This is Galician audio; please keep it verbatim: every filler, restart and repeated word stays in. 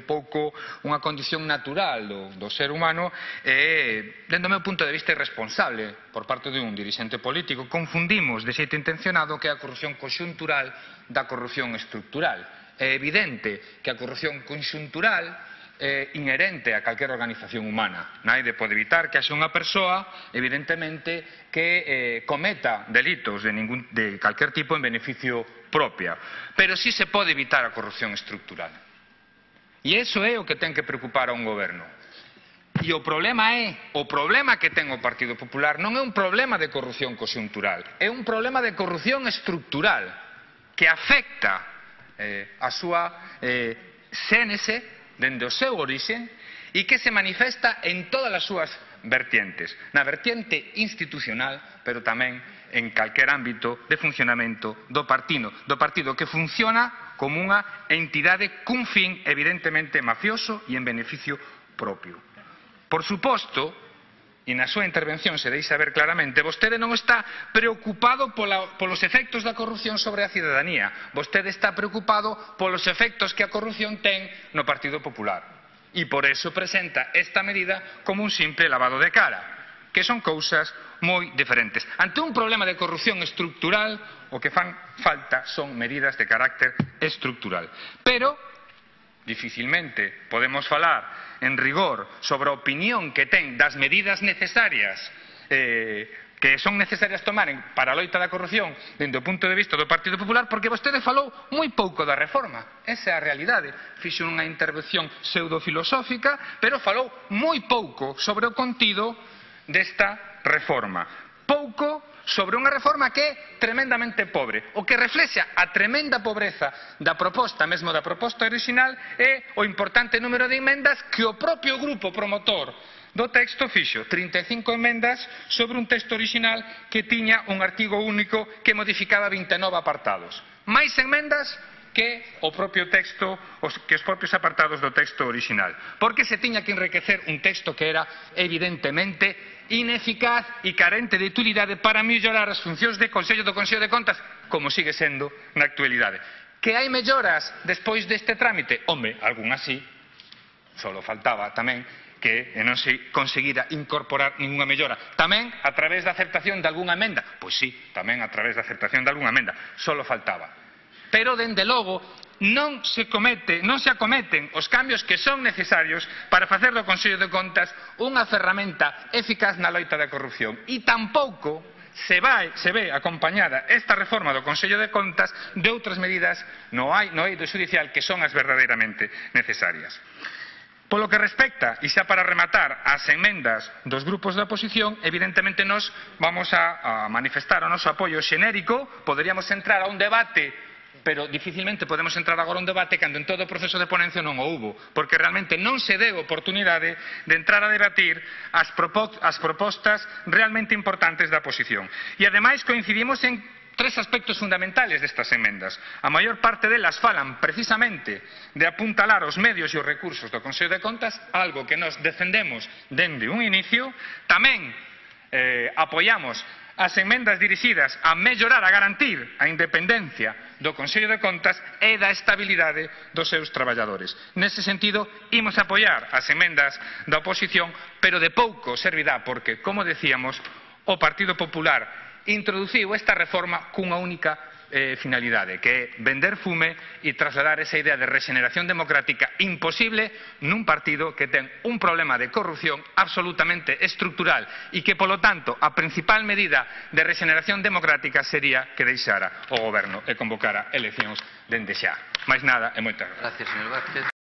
un pouco unha condición natural do, do ser humano e, dentro do meu punto de vista, irresponsable por parte dun dirixente político. Confundimos de xeito intencionado que é a corrupción conxuntural da corrupción estructural. É evidente que a corrupción conxuntural é inherente a calquera organización humana. Naide pode evitar que haxa unha persoa, evidentemente, que eh, cometa delitos de, ningún, de calquer tipo en beneficio propia. Pero sí se pode evitar a corrupción estructural. E iso é o que ten que preocupar a un goberno. E o problema é, o problema que ten o Partido Popular non é un problema de corrupción conxuntural, é un problema de corrupción estructural que afecta eh, a súa eh, xénese dende o seu orixe e que se manifesta en todas as súas vertientes, na vertiente institucional, pero tamén en calquer ámbito de funcionamento do partido, do partido que funciona como unha entidade cun fin evidentemente mafioso e en beneficio propio. Por suposto, e na súa intervención se deixa ver claramente, vostede non está preocupado pola, polos efectos da corrupción sobre a cidadanía. Vostede está preocupado polos efectos que a corrupción ten no Partido Popular. E por eso presenta esta medida como un simple lavado de cara, que son cousas moi diferentes. Ante un problema de corrupción estructural, o que fan falta son medidas de carácter estructural. Pero dificilmente podemos falar en rigor sobre a opinión que ten das medidas necesarias eh, que son necesarias tomar para a loita da corrupción dende o punto de vista do Partido Popular, porque vostede falou moi pouco da reforma. Esa é a realidade. Fixo unha intervención pseudofilosófica, pero falou moi pouco sobre o contido desta reforma. Pouco sobre unha reforma que é tremendamente pobre. O que reflexa a tremenda pobreza da proposta, mesmo da proposta original, é o importante número de emendas que o propio grupo promotor do texto fixo. trinta e cinco emendas sobre un texto original que tiña un artigo único que modificaba vinte e nove apartados. Mais emendas que o propio texto, que os propios apartados do texto original. Porque se tiña que enriquecer un texto que era evidentemente ineficaz e carente de utilidade para mellorar as funcións de Consello do Consello de Contas, como sigue sendo na actualidade. Que hai melloras despois deste trámite? Home, algunhas sí, solo faltaba tamén que non se conseguira incorporar ninguna mellora. Tamén a través da aceptación de algunha emenda? Pois sí, tamén a través da aceptación de algunha emenda, solo faltaba. Pero, dende logo, non se comete, non se acometen os cambios que son necesarios para facer do Consello de Contas unha ferramenta eficaz na loita da corrupción. E tampouco se, vai, se ve acompañada esta reforma do Consello de Contas de outras medidas no eido xudicial que son as verdadeiramente necesarias. Polo que respecta, e xa para rematar, as emendas dos grupos da oposición, evidentemente nós vamos a, a manifestar o noso apoio xenérico. Poderíamos entrar a un debate, pero dificilmente podemos entrar agora a un debate cando en todo o proceso de ponencia non o hubo, porque realmente non se deu oportunidade de entrar a debatir as, as propostas realmente importantes da oposición. E ademais coincidimos en tres aspectos fundamentales destas emendas. A maior parte delas falan precisamente de apuntalar os medios e os recursos do Consello de Contas, algo que nos defendemos dende un inicio. Tamén eh, apoiamos as emendas dirixidas a mellorar, a garantir a independencia do Consello de Contas e da estabilidade dos seus traballadores. Nese sentido, imos apoiar as emendas da oposición, pero de pouco servirá porque, como decíamos, o Partido Popular introduciu esta reforma cunha única eh, finalidade, que é vender fume e trasladar esa idea de regeneración democrática imposible nun partido que ten un problema de corrupción absolutamente estructural e que, polo tanto, a principal medida de regeneración democrática sería que deixara o goberno e convocara eleccións dende xa. Mais nada e moitas gracias. Gracias, señor Vázquez.